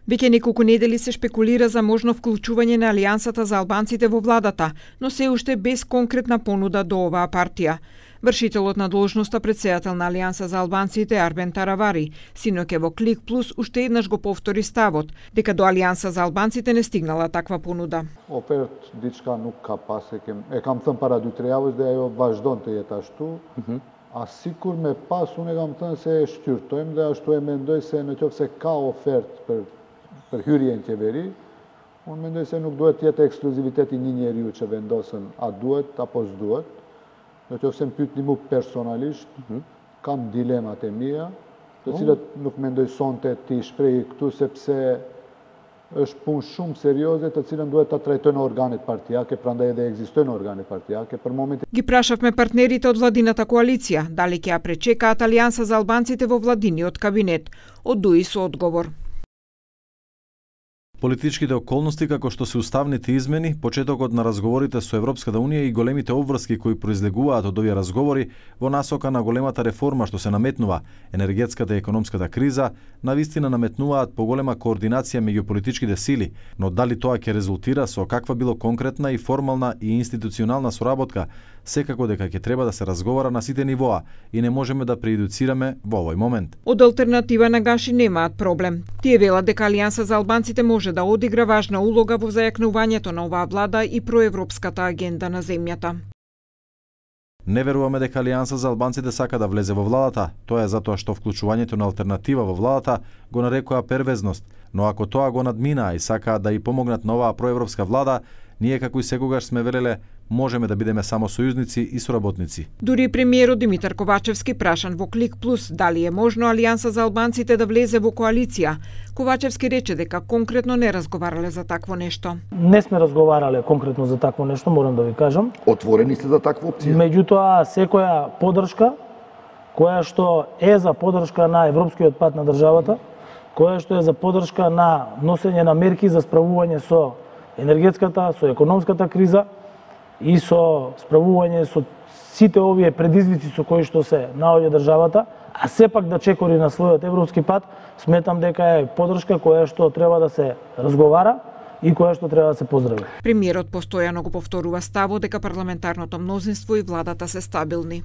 Веќе неколку недели се шпекулира за можно вклучување на Алијансата за албанците во владата, но се уште без конкретна понуда до оваа партија. Вршителот на должноста председател на Алијанса за албанците Арбен Таравари синоќа во Клик Плюс уште еднаш го повтори ставот дека до Алијанса за албанците не стигнала таква понуда. Опет дичка nuk ka pas e kam thënë para 2-3 javësh dhe ajo vazhdon të jetë ashtu. A sikur me pas unë kam thënë se e shqyrtojmë dhe ashtu e mendoj se nëse ka ofertë për hyrje në qeveri, unë mendoj se nuk duhet të jetë ekskluziviteti një njeriu që vendosën a duhet apo s'duhet. Nëse më pyetni mua personalisht, kam dilemat e mia, të cilat nuk mendoj sonte ti shpreh këtu sepse është punë shumë serioze të cilën duhet ta trajtojnë organet partijake, prandaj edhe ekzistojnë organe partijake. Për momentin ги прашавме партнерите од владината коалиција дали ќе ја пречекаат Алијанса за албанците во владиниот кабинет. Одуи со одговор. Политичките околности како што се уставните измени, почетокот на разговорите со Европската унија и големите обврски кои произлегуваат од овие разговори во насока на големата реформа што се наметнува, енергетската и економската криза, навистина наметнуваат поголема координација меѓу политичките сили, но дали тоа ќе резултира со каква било конкретна и формална и институционална соработка, секако дека ќе треба да се разговара на сите нивоа и не можеме да прејудицираме во овој момент. Од алтернатива на Гаши немаат проблем. Тие велат дека Алијанса за албанците може да одигра важна улога во зајакнувањето на оваа влада и проевропската агенда на земјата. Не веруваме дека Алијанса за албанците сака да влезе во владата, тоа е затоа што вклучувањето на алтернатива во владата го нарекува первезност, но ако тоа го надминаа и сакаат да и помогнат на оваа проевропска влада, ние како и секогаш сме велеле можеме да бидеме само сојузници и соработници. Дури премиерот Димитар Ковачевски прашан во Клик Плюс дали е можно Алијанса за албанците да влезе во коалиција, Ковачевски рече дека конкретно не разговарале за такво нешто. Не сме разговарале конкретно за такво нешто, морам да ви кажам. Отворени сте за таква опција? Меѓутоа, секоја поддршка која што е за поддршка на европскиот пат на државата, која што е за поддршка на носење на мерки за справување со енергетската, со економската криза и со справување со сите овие предизвици со кои што се наоѓа државата, а сепак да чекори на својот европски пат, сметам дека е поддршка која што треба да се разговара и која што треба да се поздрави. Премиерот постојано го повторува ставот дека парламентарното мнозинство и владата се стабилни.